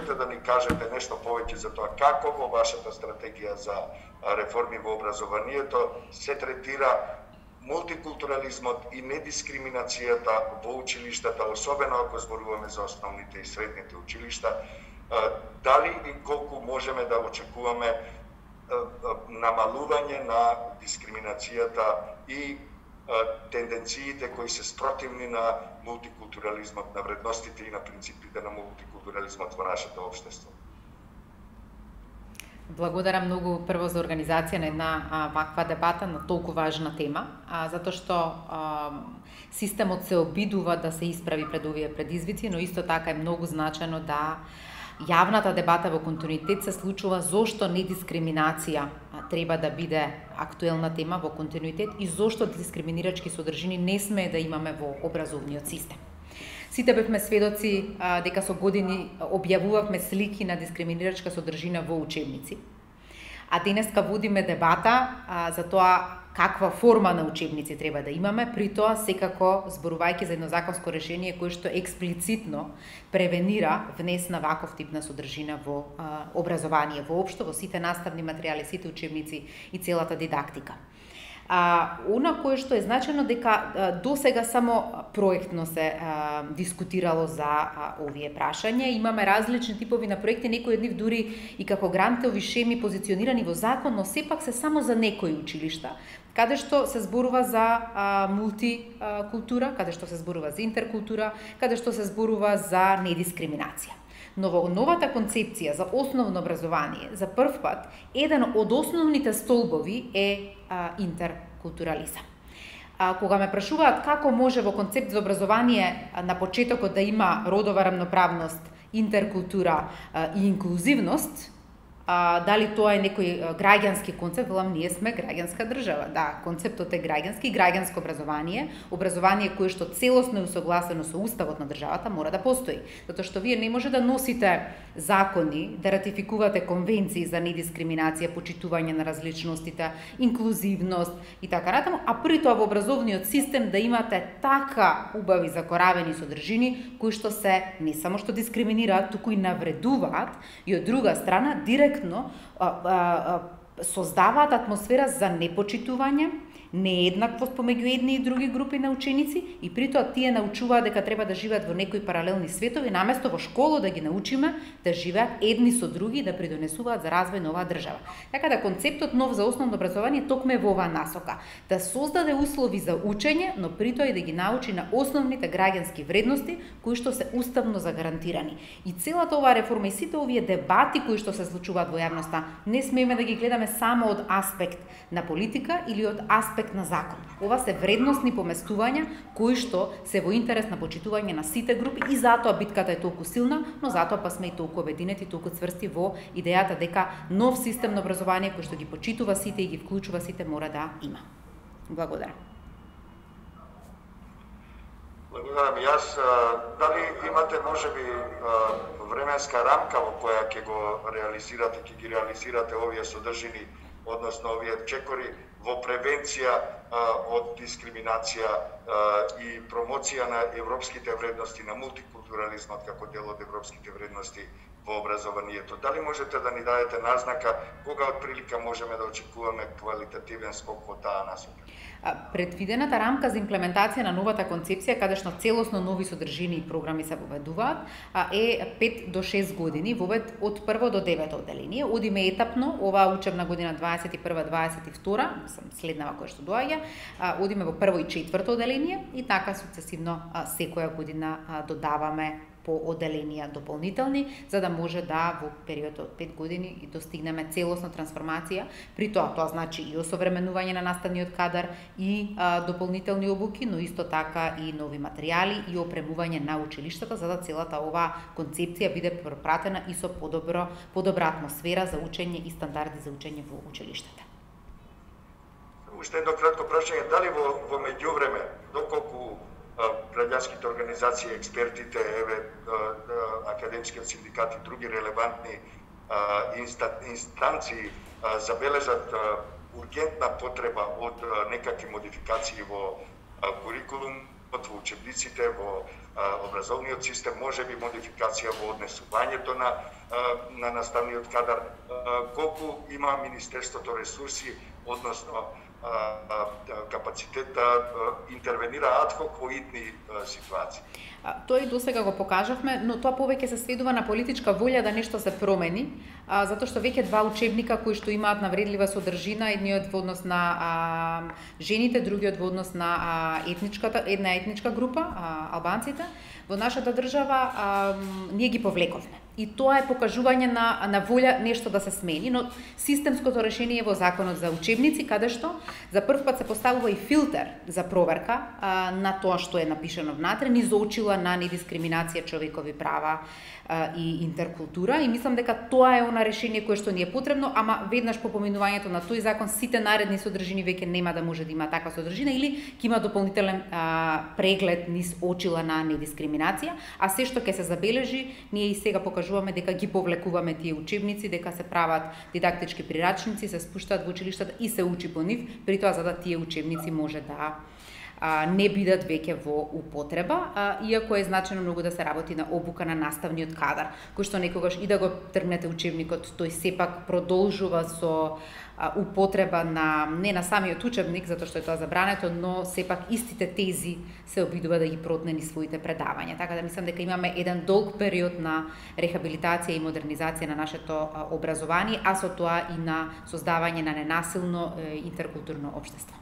можете да ни кажете нешто повеќе за тоа како во вашата стратегија за реформи во образованието се третира мултикултурализмот и недискриминацијата во училиштата, особено ако зборуваме за основните и средните училишта, дали и колку можеме да очекуваме намалување на дискриминацијата и тенденциите кои се спротивни на мултикултурализмот, на вредностите и на принципите на мултикултурализмот во нашето општество. Благодарам многу прво за организација на една ваква дебата на толку важна тема, затоа што системот се обидува да се исправи пред овие предизвици, но исто така е многу значено да јавната дебата во континуитет се случува зошто недискриминација треба да биде актуелна тема во континуитет и зошто дискриминирачки содржини не смее да имаме во образовниот систем. Сите бевме сведоци дека со години објавувавме слики на дискриминирачка содржина во учебници. А денеска водиме дебата за тоа каква форма на учебници треба да имаме, при тоа секако зборувајќи за едно законско решение кое што експлицитно превенира внес на ваков тип на содржина во образование воопшто, во сите наставни материјали, сите учебници и целата дидактика. Она кое што е значено дека досега само проектно се дискутирало за овие прашања. Имаме различни типови на проекти, некои од нив дури и како грантови шеми позиционирани во закон, но сепак се само за некои училишта, каде што се зборува за мултикултура, каде што се зборува за интеркултура, каде што се зборува за недискриминација. Но во новата концепција за основно образование, за прв пат, еден од основните столбови е интеркултурализам. Кога ме прашуваат како може во концепт за образование на почетокот да има родова рамноправност, интеркултура и инклузивност, дали тоа е некој граѓански концепт, велам, ние сме граѓанска држава. Да, концептот е граѓански, граѓанско образование, образование кое што целосно е усогласено со уставот на државата мора да постои. Затоа што вие не може да носите закони, да ратификувате конвенции за недискриминација, почитување на различностите, инклузивност и така натаму, а при тоа во образовниот систем да имате така убави закоравени содржини кои што се не само што дискриминираат, туку и навредуваат и од друга страна директно создаваат атмосфера за непочитување, нееднаквост помеѓу едни и други групи на ученици и при тоа тие научуваат дека треба да живеат во некои паралелни светови, наместо во школа да ги научиме да живеат едни со други и да придонесуваат за развој на оваа држава. Така да концептот нов за основно образование токме во оваа насока, да создаде услови за учење, но при тоа и да ги научи на основните граѓански вредности кои што се уставно загарантирани. И целата оваа реформа и сите овие дебати кои што се случуваат во јавноста не смееме да ги гледаме само од аспект на политика или од аспект на закон. Ова се вредностни поместувања кои што се во интерес на почитување на сите групи и затоа битката е толку силна, но затоа па сме и толку обединети, толку цврсти во идејата дека нов систем на образование кој што ги почитува сите и ги вклучува сите мора да има. Благодарам. Благодарам. Јас, дали имате можеби временска рамка во која ќе го реализирате, ќе ги реализирате овие содржини, односно овие чекори во превенција од дискриминација и промоција на европските вредности, на мултикултурализмот како дел од европските вредности во образованието. Дали можете да ни дадете назнака кога отприлика можеме да очекуваме квалитативен скок во таа насока? Предвидената рамка за имплементација на новата концепција, каде што целосно нови содржини и програми се воведуваат, е 5 до 6 години, вовед од 1 до 9 одделение. Одиме етапно, оваа учебна година 21-22, следнава која што доаѓа, одиме во 1 и 4 одделение и така суцесивно секоја година додаваме по одделенија дополнителни, за да може да во период од 5 години и достигнеме целосна трансформација. При тоа значи и осовременување на наставниот кадар и дополнителни обуки, но исто така и нови материјали и опремување на училиштата, за да целата оваа концепција биде пропратена и со подобра атмосфера за учење и стандарди за учење во училиштата. Уште едно кратко прашање, дали во меѓувреме, доколку граѓанските организации, експертите, академскиот синдикат и други релевантни инстанции забележат ургентна потреба од некакви модификации во курикулум, во учебниците, во образовниот систем, можеби модификација во однесувањето на наставниот кадар, колку има Министерството ресурси, односно капацитет да интервенира адхок во итни ситуации. Тоа и досега го покажавме, но тоа повеќе се сведува на политичка волја да нешто се промени, затоа што веќе два учебника кои што имаат навредлива содржина, едниот во однос на жените, другиот во однос на една етничка група, албанците, во нашата држава ние ги повлековме. И тоа е покажување на волја нешто да се смени, но системското решение е во законот за учебници, каде што за прв пат се поставува и филтер за проверка на тоа што е напишано внатре, низ очила на недискриминација, човекови права и интеркултура, и мислам дека тоа е она решение кое што ни е потребно, ама веднаш по поминувањето на тој закон сите наредни содржини веќе нема да може да има таква содржина или ќе има дополнителен преглед низ очила на недискриминација, а се што ќе се забележи, ние и сега покажуваме дека ги повлекуваме тие учебници, дека се прават дидактички прирачници, се спуштаат во училиштата и се учи по нив, при тоа за да тие учебници може да не бидат веќе во употреба, иако е значено многу да се работи на обука на наставниот кадар, кој што некогаш и да го тргнете учебникот, тој сепак продолжува со употреба не на самиот учебник, затоа што е тоа забрането, но сепак истите тези се обидува да ги протне низ своите предавања. Така да мислам дека имаме еден долг период на рехабилитација и модернизација на нашето образование, а со тоа и на создавање на ненасилно интеркултурно општество.